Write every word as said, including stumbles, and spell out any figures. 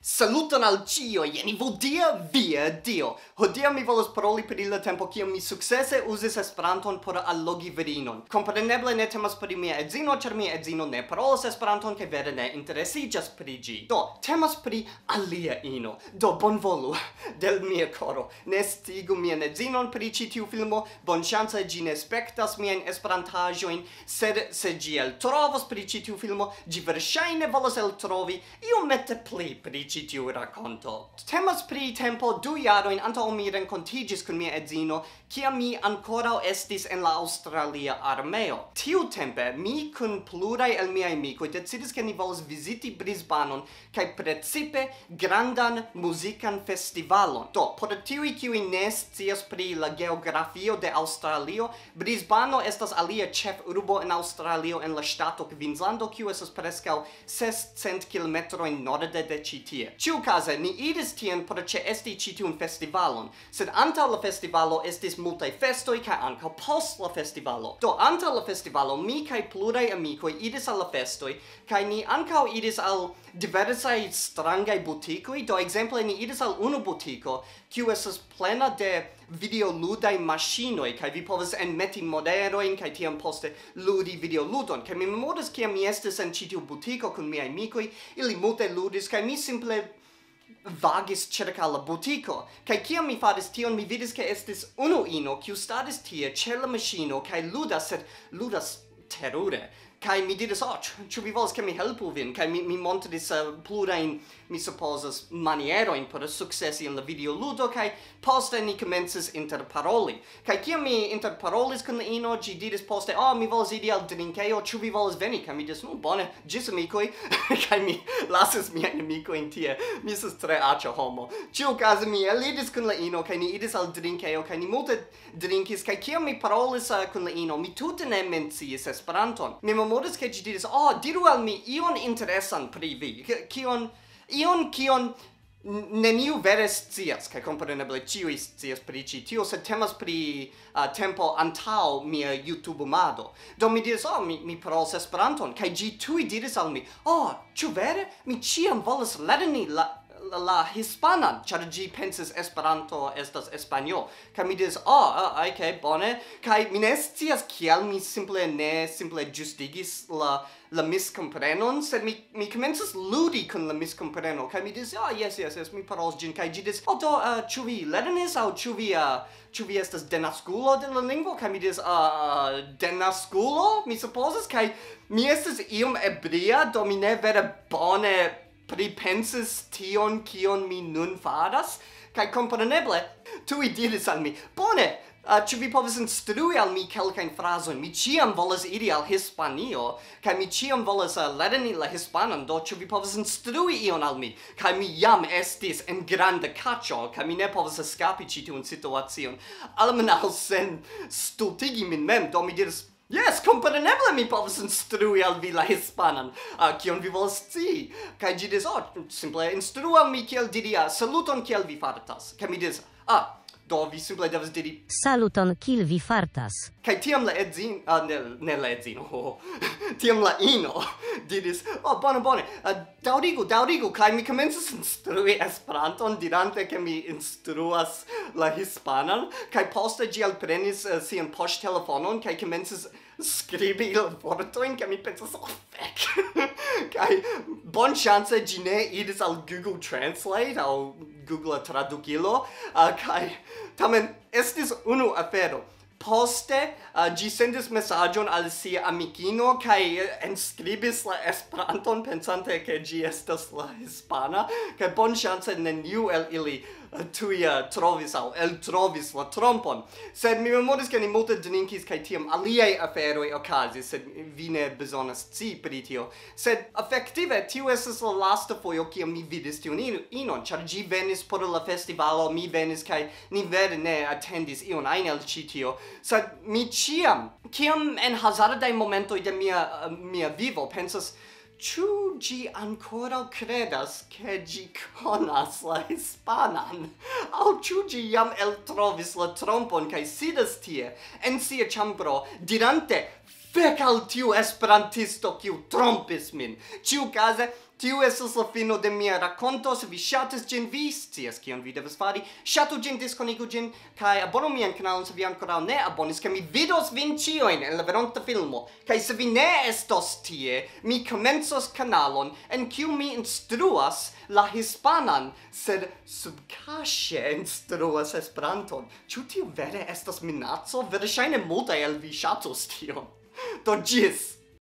Saluton al ĉio, jeni vodia via dio. Hodiaŭ mi volas paroli pri la tempo kiam mi sukcese uzis Esperanton por allogi virinon. Kompreneble ne temas pri mia edzino, ĉar mia edzino ne parolas Esperanton kaj vere ne interesiĝas pri ĝi. Do, temas pri alia ino. Do, bonvolu, de mia koro, ne sciigu mian edzinon pri ĉi tiu filmo. Bonŝance ĝi ne spektas miajn esperantaĵojn, sed se ĝi eltrovos pri ĉi tiu filmo, ĝi verŝajne volos eltrovi iomete pli pri ĉi tiu rakonto. Temas pri tempo du jarojn antaŭ mi renkontiĝis kun mia edzino, kiam mi ankoraŭ estis en la aŭstralia armeo. Tiutempe mi kun pluraj el miaj amikoj decidis, ke ni volas viziti Brisbanon kaj precipe grandan muzikan festivalon. Do, por tiuj, kiuj ne scias pri la geografio de Aŭstralio, Brisbano estas alia ĉefurbo en Aŭstralio, en la ŝtato Queenslando, kiu estas preskaŭ sescent kilometrojn norde de ĉi tie. Ĉiukaze, ni iris tien por ĉeesti ĉi tiun festivalon, sed antaŭ la festivalo estis multaj festoj kaj ankaŭ post la festivalo. Do, antaŭ la festivalo mi kaj pluraj amikoj iris al la festoj, kaj ni ankaŭ iris al diversaj strangaj butikoj. Do, ekzemple, ni iris al unu butiko, kiu estas plena de videoludaj maŝinoj, kaj vi povas enmeti monerojn kaj tiam poste ludi videoludon. Kaj mi memoras, kiam mi estis en ĉi tiu butiko kun miaj amikoj, ili multe ludis, kaj mi simple vagis ĉirkaŭ la butiko. Kaj kiam mi faris tion, mi vidis, ke estis unu ino, kiu staris tie ĉe la maŝino kaj ludas, sed ludas terure. Kaj mi diris, "Oh, ĉu, ĉu vi volas, ke mi helpu vin?" Kaj mi, mi montris, eh, plurajn, mi supozas, manierojn por sukcesi en la videoludo, kaj poste ni komencis interparoli. Kaj kiam mi interparolis kun la ino, ĝi diris poste, "Oh, mi volas iri al drinkejo, ĉu vi volas veni?" Kaj mi diris, "Nu, bone, ĝis amikoj." Kaj mi lasis miajn amikojn tie. Mi estas tre aĉa homo. Ĉiukaze mi eliris kun la ino, kaj ni iris al drinkejo, kaj ni multe drinkis, kaj kiam mi parolis, eh, kun la ino, mi tute ne menciis Esperanton. Mi memoras, ke ĝi diris, "Oh, diru al mi ion interesan pri vi." K-, kion, ion, kion n-, neniu vere scias, kaj kompreneble ĉiuj scias pri ĉi tio, sed temas pri, eh, tempo antaŭ mia YouTube-mado. Do mi diris, "Oh, mi, mi parolas Esperanton," kaj ĝi tuj diris al mi, "Oh, ĉu vere? Mi ĉiam volas lerni la, la, la hispanan," ĉar ĝi pensis, "Esperanto estas Espanjo." Kaj mi diris, "Oh, ah, ok, bone." Kaj mi ne scias, kial mi simple ne simple ĝustigis la, la miskomprenon, sed mi, mi komencis ludi kun la miskompreno. Kaj mi diris, "Ah, jes, jes, jes, mi parolas ĝin." Kaj ĝi diris, "Oh, do, ah, ĉu vi lernis, aŭ ĉu vi, ah, ĉu vi estas denaskulo de la lingvo?" Kaj mi diris, "Ah, denaskulo, mi supozas." Kaj mi estis iom ebria, do mi ne vere bone pripensis tion, kion mi nun faras, kaj kompreneble tuj diris al mi, "Bone, ah, ĉu vi povas instrui al mi kelkajn frazojn? Mi ĉiam volas iri al Hispanio, kaj mi ĉiam volas, ah, lerni la hispanan, do ĉu vi povas instrui ion al mi?" Kaj mi jam estis en granda kaĉo, kaj mi ne povas eskapi ĉi tiun situacion. Almenaŭ sen stultigi min mem, do mi diris, "Jes, kompreneble mi povas instrui al vi la hispanan. Ah, kion vi volas scii?" Kaj ĝi diris, "Oh, simple instrui al mi kiel diri, ah, saluton, kiel vi fartas." Kaj mi diris, "Ah, do vi simple devas diri." "Saluton, kiel vi fartas?" Kaj tiam la edzin-, ah, ne, ne la edzino, ho, ho. Tiam la ino diris, "Oh, bone, bone, ah, daŭrigu, daŭrigu." Kaj mi komencis instrui Esperanton, dirante, ke mi instruas la hispanan. Kaj poste ĝi alprenis, eh, sian poŝtelefonon, kaj komencis skribi la vortojn, kaj mi pensas, "Oh, fek." Kaj bonŝance ĝi ne iris al Google Translate aŭ Google Tradukilo, ah, kaj tamen estis unu afero. Poste, ah, ĝi sendis mesaĝon al sia amikino kaj, eh, enskribis la Esperanton, pensante, ke ĝi estas la hispana, kaj bonŝance neniu el ili, eh, tuj, eh, trovis aŭ eltrovis la trompon. Sed mi memoris, ke ni multe drinkis, kaj tiam aliaj aferoj okazis, sed vi ne bezonas scii pri tio. Sed efektive, tiu estis la lasta fojo, kiam mi vidis tiun in-, inon, ĉar ĝi venis por la festivalo, mi venis, kaj ni vere ne atendis ion ajn el ĉi tio. Sed mi ĉiam, kiam en hazardaj momentoj de mia, eh, mia vivo, pensas, "Ĉu ĝi ankoraŭ kredas, ke ĝi konas la hispanan? Aŭ ĉu ĝi jam eltrovis la trompon kaj sidas tie, en sia ĉambro, dirante, 'Fek al tiu esperantisto, kiu trompis min'?" Ĉiukaze, Tiu estas la fino de mia rakonto. Se vi ŝatas ĝin, vi scias kion vi devas fari. Ŝatu ĝin, diskonigu ĝin, kaj abonu mian kanalon se vi ankoraŭ ne abonis, ke mi vidos vin ĉiujn en la venonta filmo. Kaj se vi ne estos tie, mi komencos kanalon en kiu mi instruas la hispanan, sed subkaŝe instruas Esperanton. Ĉu tio vere estas minaco? Verŝajne multaj el vi ŝatos tion. Do ĝis!